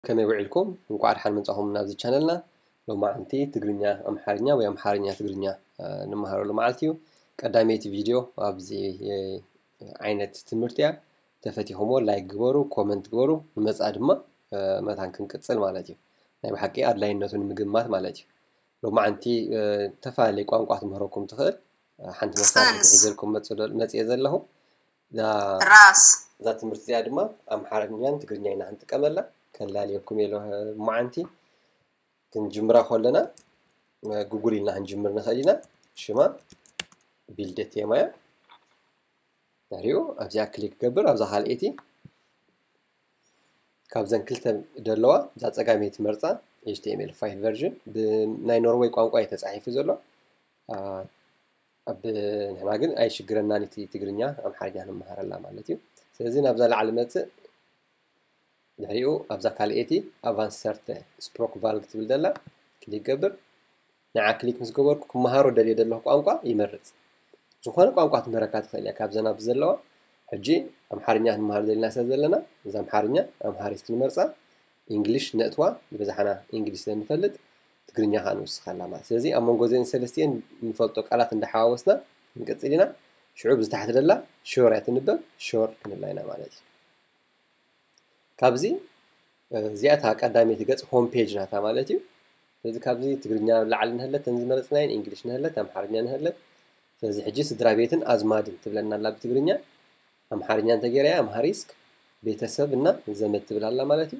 ከመይ ውዒልኩም? እንቋዕ ደሓን መጻኹም ናብዚ ቻነልና። ሎማዓንቲ ትግርኛ ኣምሓርኛ ወይ ኣምሓርኛ ትግርኛ፣ እ፣ ንመሃረሉ መዓልቲ እዩ። ቀዳመይቲ ቪድዮ ኣብዚ፣ እ፣ ዓይነት ትምህርቲ እያ። ተፈቲኹምዎ ላይክ ግበሩ፣ ኮመንት ግበሩ። ንመጻኢ ድማ፣ እ፣ መታን ክንቅጽል ማለት እዩ። ናይ ብሓቂ ኣድላይነቱ ንምግማት ማለት እዩ። ሎማዓንቲ፣ እ፣ ተፈላለየ ቋንቋ ትምህረኩም ትኽእል፣ እ፣ ሓንቲ መሳርሒ ስልስ። ሒዘልኩም መጽ-፣ መጽየ ዘለኹ። እዛ ራስ። እዛ ትምህርቲ እዚኣ ድማ ኣምሓርኛን ትግርኛ ኢና ክንጥቀመላ። ከላልየኩም እየ ሎ-፣ ሎማዓንቲ። ክንጅምራ ከለና፣ እ፣ ጉግል ኢልና ክንጅምር ንኽእል ኢና። ሽማ ቢልደት የማያ። ድሕሪኡ ኣብዚኣ ክሊክ ገብር፣ ኣብዛ ካልኣይቲ ካብዘን ክልተ ደለዋ እዛ ጸጋመይቲ መርጻ ኤች ቲ ኤም ኤል ፋይቭ ቨርዥን ብናይ ኖርወይ ቋንቋ እዩ ተጻሒፉ ዘሎ። ኣ፣ ኣብ፣ ንሕና ግን ኣይሽግረናን፣ እቲ ትግርኛ ኣምሓርኛ ንመሃረላ ማለት እዩ። ስለዚ ናብዛ ላዕሊ መጽእ፣ ድሕሪኡ ኣብዛ ካልኣይቲ ኣቫንሰርተ ስፕሮክ ቫልግ ትብል ደላ ክሊክ ገብር። ንዓ ክሊክ ምስ ገበርኩ ክመሃሮ ደልየ ዘለኹ ቋንቋ ይመርጽ። ዝኾነ ቋንቋ ትምህረካ ትኽእል እያ ካብዘን ኣብዚ ዘለዋ። ሕጂ ኣምሓርኛ ክንመሃር ደሊና ስለ ዘለና፣ እዛ ኣምሓርኛ ኣምሃሪት ክንመርጻ፣ ኢንግሊሽ ነእትዋ፣ ዝበዝሓና ኢንግሊሽ ስለ ንፈልጥ፣ ትግርኛ ከኣ ንውስኸላ ማለት። ስለዚ ኣብ መንጎ እዘን ሰለስቲኤን ንፈልጦ ቃላት እንዳሓዋወስና ክንቅጽል ኢና። ሽዑ ብዝታሕቲ ደላ ሾር እያ ትንበብ፣ ሾር ክንብላ ኢና ማለት እዩ። ካብዚ፣ እ፣ እዚኣ እታ ቀዳመይቲ ገጽ ሆም ፔጅ ናታ ማለት እዩ። ስለዚ ካብዚ ትግርኛ ላዕሊ ንህለት፣ ተን ዝመረጽናየን፣ ኢንግሊሽ ንህለት፣ ኣምሓርኛ ንህለት። ስለዚ ሕጂ ስድራ ቤትን ኣዝማድን ትብለና ኣላ ብትግርኛ፣ ኣምሓርኛ እንተገይራያ ኣምሃሪስክ ቤተሰብ እና ዘመድ ትብል ኣላ ማለት እዩ።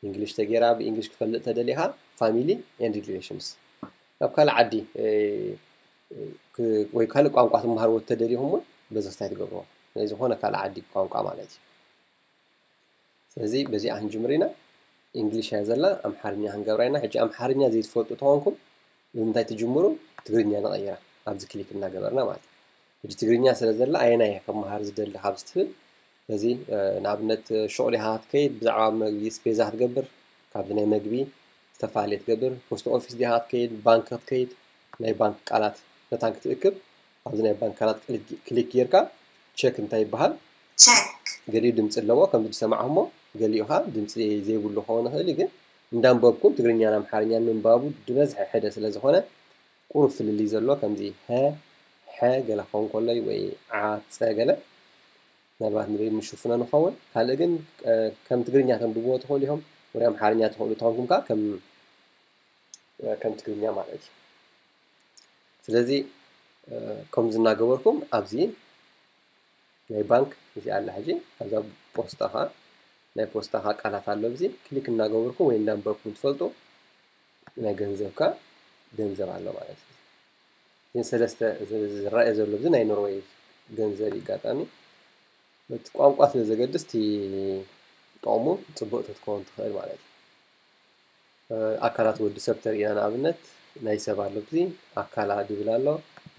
ኢንግሊሽ ተገይራ ብኢንግሊሽ ክፈልጥ ተደሊኻ ፋሚሊ ኤንድ ሪሌሽንስ። ናብ ካልእ ዓዲ፣ እ፣ ክ-፣ ወይ ካልእ ቋንቋ ትመሃርዎ ተደሊኹም እውን በዚ ክስታይ ትገብርዎ። ናይ ዝኾነ ካልእ ዓዲ ቋንቋ ማለት እዩ። ስለዚ በዚኣ ክንጅምር ኢና። ኢንግሊሽ እያ ዘላ፣ ኣምሓርኛ ክንገብራ ኢና። ሕጂ ኣምሓርኛ ዘይትፈልጡ ተኾንኩም ብምንታይ ትጅምሩ? ትግርኛ ንቐይራ፣ ኣብዚ ክሊክ እናገበርና ማለት እዩ። ሕጂ ትግርኛ ስለ ዘላ ኣየናይ እየ ክመሃር ዝደሊ ካብዚ ትብል፣ በዚ፣ እ፣ ንኣብነት ሹቕ ዲኻ ክትከይድ፣ ብዛዕባ መግቢ ስፔዛ ክትገብር፣ ካብዚ ናይ መግቢ ዝተፈላለየ ትገብር፣ ፖስት ኦፊስ ዲኻ ክትከይድ፣ ባንክ ክትከይድ፣ ናይ ባንክ ቃላት መታን ክትእክብ፣ ኣብዚ ናይ ባንክ ቃላት ክሊክ፣ ክሊክ ጌርካ ቸክ እንታይ ይበሃል? ቸክ። ገሊኡ ድምፂ ኣለዎ፣ ከምዚ ዝሰማዕኹሞ፣ ገሊኡ ኸዓ ድምፂ ዘይብሉ ክኸውን ይኽእል እዩ፣ ግን እንዳንበብኩም ትግርኛን ኣምሓርኛን ምንባቡ ድበዝሐ ሕደ ስለ ዝኾነ፣ ቁሩብ ፍልልይ ዘሎ፣ ከምዚ ሀ፣ ሐ ገለ ክኸውን ከሎ ወይ ዓ፣ ጸ ገለ፣ ምናልባት ንበይ ምሽፍኖ ንኸውን። ካልእ ግን፣ እ፣ ከም ትግርኛ ተንብብዎ ትኽእሉ ኢኹም፣ ወይ ኣምሓርኛ ትኽእሉ ተኾንኩም ከኣ ከም፣ እ፣ ከም ትግርኛ ማለት እዩ። ስለዚ፣ እ፣ ከምዚ እናገበርኩም ኣብዚ ናይ ባንክ እዚ ኣላ። ሕጂ ኣብዛ ፖስታ ኸኣ፣ ናይ ፖስታ ኸኣ ቃላት ኣሎ። ኣብዚ ክሊክ እናገበርኩም ወይ እንዳንበብኩም ትፈልጡ ናይ ገንዘብካ ገንዘብ ኣሎ ማለት እዩ። እዘን ሰለስተ እዚ ዝረኣየ ዘሎ እዚ ናይ ኖርወይ ገንዘብ እዩ። ኣጋጣሚ እቲ ቋንቋ ስለ ዘገድስ እቲ ጥቕሙ ጽቡቕ ተትከውን ትኽእል ማለት እዩ። እ፣ ኣካላት ወዲ ሰብ ተርኢና ንኣብነት ናይ ሰብ ኣሎ፣ ኣብዚ ኣካላ ድብል ኣሎ።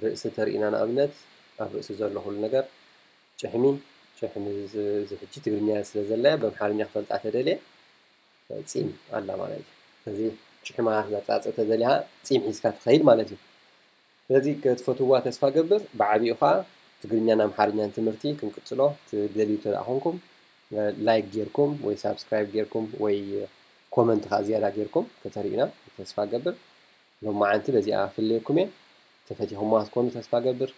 ርእሲ ተርኢና ንኣብነት ኣብ ርእሲ ዘሎ ኩሉ ነገር ጭሕሚ፣ ጭሕሚ እዚ፣ እዚ ሕጂ ትግርኛ ስለ ዘላያ ብኣምሓርኛ ክፈልጣ ተደልየ ጺም ኣላ ማለት እዩ። ስለዚ ጭሕማ ዘጻጽእ ተደሊኻ ጺም ሒዝካ ትኸይድ ማለት እዩ። ስለዚ ክትፈትውዋ ተስፋ ገብር። ብዓቢኡ ኸኣ ትግርኛን ኣምሓርኛን ትምህርቲ ክንቅጽሎ ትደልዩ እንተ ደኣ ኾንኩም፣ ላይክ ጌርኩም ወይ ሳብስክራይብ ጌርኩም ወይ ኮመንት ኸኣ ዝያዳ ጌርኩም ከተርእዩና ተስፋ ገብር። ሎማዓንቲ በዚኣ ፍለየኩም እየ። ተፈቲኹምዋ ክትኮኑ ተስፋ ገብር።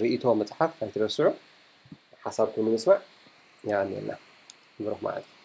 ርእይቶ ምጽሓፍ ኣይትረስዑ። ሓሳብኩም ንምስማዕ የቐንየልና። ብሩኽ መዓልቲ።